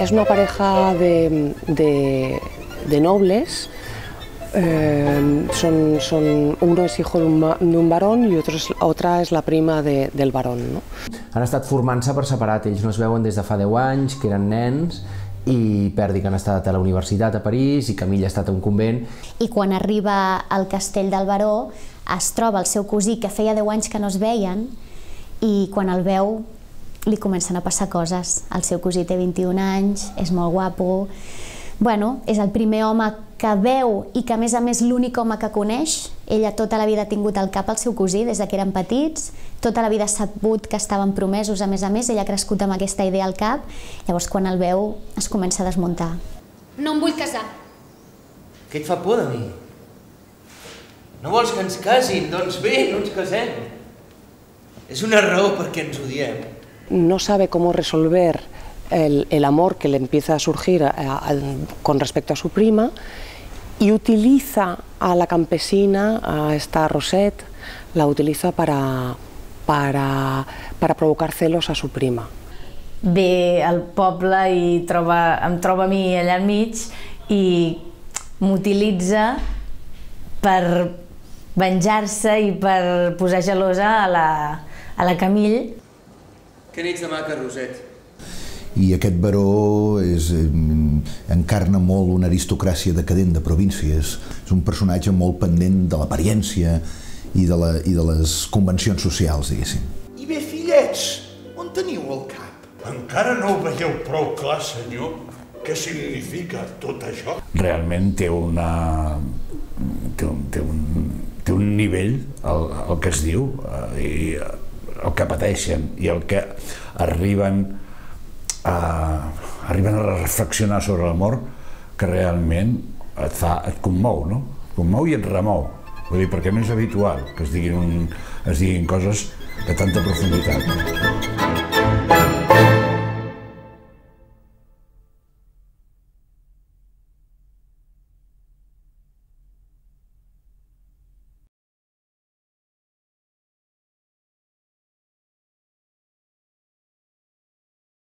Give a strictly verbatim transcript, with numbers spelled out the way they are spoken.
Es una pareja de, de, de nobles. Eh, son, son, uno es hijo de un, de un varón y otro es, otra és la prima de, del varón. No? Han estat formant-se per separat, ells no es veuen des de fa deu anys, que eren nens, i Perdi que han estat a la universitat a París i Camilla ha estat a un convent. I quan arriba al castell del baró es troba el seu cosí que feia deu anys que no es veien i quan el veu li comencen a passar coses. El seu cosí té vint-i-un anys, és molt guapo, bueno, és el primer home que veu i que a més a més l'únic home que coneix. Ella tota la vida ha tingut al cap el seu cosí des que eren petits, tota la vida ha sabut que estaven promesos, a més a més, ella ha crescut amb aquesta idea al cap, llavors quan el veu es comença a desmuntar. No em vull casar. Què et fa por de mi? No vols que ens casin? Doncs bé, no ens casem. És una raó perquè ens odiem. No sabe cómo resolver el, el amor que le empieza a surgir a, a, con respecto a su prima y utiliza a la campesina, a esta Rosette, la utiliza para, para, para provocar celos a su prima. Ve al poble i troba, em troba a mi allà enmig i m'utilitza per venjar-se i per posar gelosa a la, a la Camille. Que n'ets de maca, Rosette. I aquest baró és, encarna molt una aristocràcia decadent de províncies. És un personatge molt pendent de l'apariència i, de la, i de les convencions socials, diguéssim. I bé, fillets, on teniu el cap? Encara no ho veieu prou clar, senyor? Què significa tot això? Realment té una... té un, té un, té un nivell, el, el que es diu, i el que pateixen i el que arriben a, arriben a reflexionar sobre l'amor que realment et, fa, et commou, no? Et commou i et remou. Vull dir, perquè no és habitual que es diguin, un, es diguin coses de tanta profunditat.